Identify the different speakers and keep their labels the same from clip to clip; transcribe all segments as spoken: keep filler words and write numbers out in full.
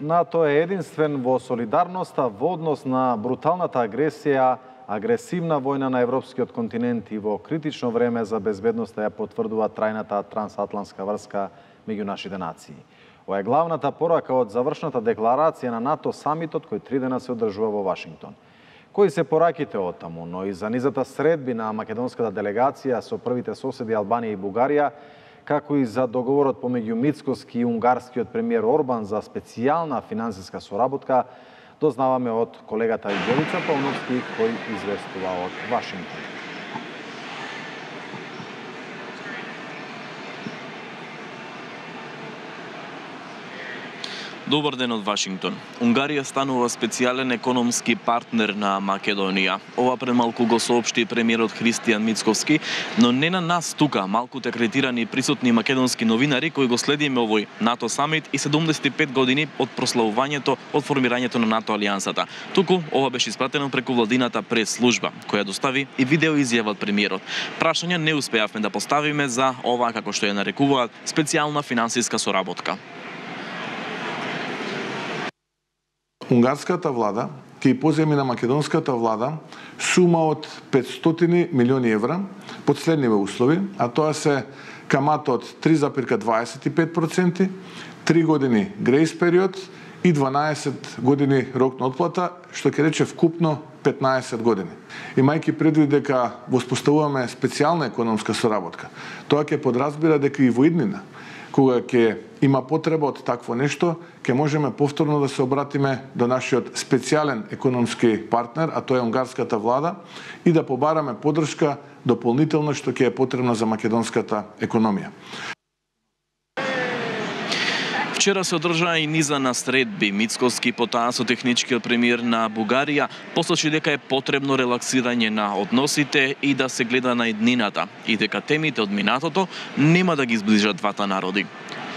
Speaker 1: НАТО е единствен во солидарноста во однос на бруталната агресија, агресивна војна на европскиот континент и во критично време за безбедноста ја потврдува трајната трансатлантска врска меѓу нашите нации. Ова е главната порака од завршната декларација на НАТО самитот кој три дена се одржува во Вашингтон. Кои се пораките од таму, но и за низата средби на македонската делегација со првите соседи Албанија и Бугарија, како и за договорот помеѓу Мицкоски и унгарскиот премиер Орбан за специјална финансиска соработка, дознаваме од колегата Јовица Пауновски, кој известува од Вашингтон.
Speaker 2: Добар ден од Вашингтон. Унгарија станува специјален економски партнер на Македонија. Ова пред малку го соопшти премиерот Христијан Мицковски, но не на нас тука, малку акредитирани и присутни македонски новинари кои го следиме овој НАТО самит и седумдесет и пет години од прославувањето од формирањето на НАТО алијансата. Туку ова беше испратено преку владината прес-служба, која достави и видео изјава од премиерот. Прашања не успеавме да поставиме за ова, како што ја нарекуваат, специјална финансиска соработка.
Speaker 3: Унгарската влада ќе поземи на македонската влада сума од петстотини милиони евра под следниве услови, а тоа се камата од три запирка дваесет и пет проценти, три години грејс период и дванаесет години рок на отплата, што ќе рече вкупно петнаесет години. Имајќи предвид дека воспоставуваме специјална економска соработка, тоа ќе подразбира дека и во иднина, кога ќе има потреба од такво нешто, ќе можеме повторно да се обратиме до нашиот специјален економски партнер, а тоа е унгарската влада, и да побараме поддршка дополнително што ќе е потребна за македонската економија.
Speaker 2: Вчера се одржаа и низа на средби. Мицкоски потаа со техничкиот премиер на Бугарија посочи дека е потребно релаксирање на односите и да се гледа на иднината и дека темите од минатото нема да ги зближат двата народи.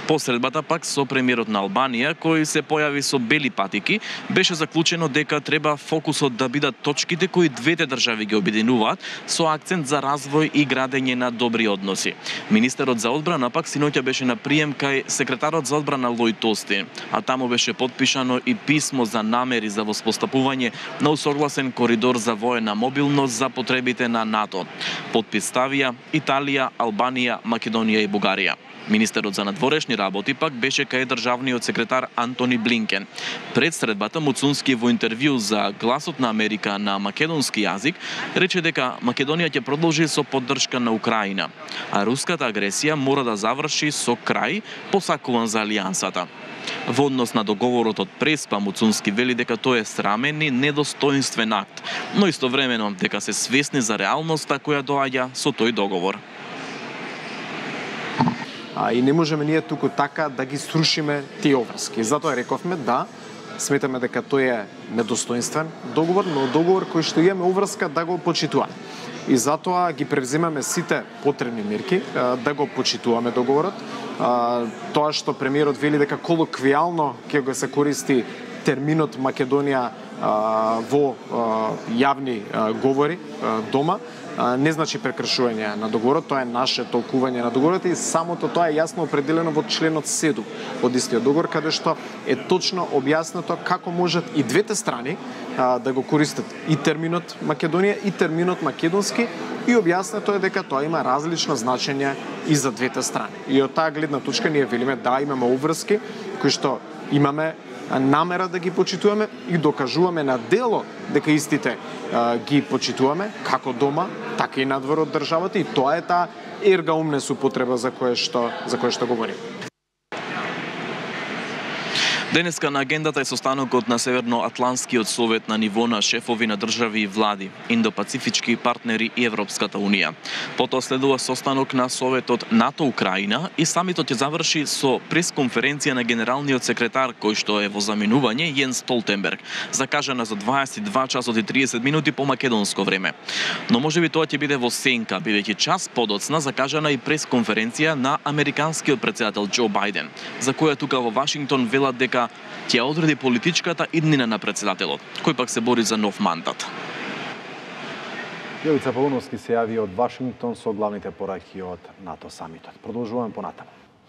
Speaker 2: По средбата пак со премиерот на Албанија, кој се појави со бели патики, беше заклучено дека треба фокусот да бидат точките кои двете држави ги обединуваат, со акцент за развој и градење на добри односи. Министерот за одбрана пак синоќа беше на прием кај секретарот за одбрана Лојд Остин, а таму беше потпишано и писмо за намери за воспоставување на усогласен коридор за воена мобилност за потребите на НАТО. Потпис ставија Италија, Албанија, Македонија и Бугарија. Министерот за надворешни работи пак беше кај државниот секретар Антони Блинкен. Пред средбата Муцунски во интервју за Гласот на Америка на македонски јазик рече дека Македонија ќе продолжи со поддршка на Украина, а руската агресија мора да заврши со крај посакуван за алијансата. Во однос на договорот од Преспа, Муцунски вели дека тој е срамен и недостоинствен акт, но истовремено дека се свесни за реалноста која доаѓа со тој договор.
Speaker 4: А, и не можеме ние туку така да ги срушиме тие обврски. Затоа рековме да, сметаме дека тој е недостоинствен договор, но договор кој што имаме обврска да го почитуваме. И затоа ги превземаме сите потребни мерки да го почитуваме договорот. Тоа што премиерот вели дека колоквијално ќе го се користи терминот Македонија во јавни говори дома, не значи прекршување на договорот, тоа е наше толкување на договорот и самото тоа е јасно определено во членот седум од истиот договор, каде што е точно објаснето како можат и двете страни а, да го користат и терминот Македонија и терминот македонски, и објаснето е дека тоа има различно значење и за двете страни. И од таа гледна точка ние велиме да имаме обврски кои што имаме намера да ги почитуваме и докажуваме на дело дека истите а, ги почитуваме како дома, така и надвор од државата, и тоа е таа ерга умнес употреба за која што за која што говорим.
Speaker 2: Денеска на агендата е состанокот на Северноатланскиот совет на ниво на шефови на држави и влади, индопацифички партнери и Европската унија. Потоа следува состанок на Советот НАТО Украина и самитот ќе заврши со пресконференција на генералниот секретар кој што е во заминување Јенс Столтенберг, закажана за дваесет и два часот и триесет минути по македонско време. Но можеби тоа ќе биде во сенка, бидејќи час подоцна закажана и пресконференција на американскиот претседател Џо Бајден, за која тука во Вашингтон велат дека ќе одреди политичката иднина на претседателот, кој пак се бори за нов мандат.
Speaker 1: Јовица Пауновски се јави од Вашингтон со главните пораки од НАТО самитот. Продолжуваме понатаму.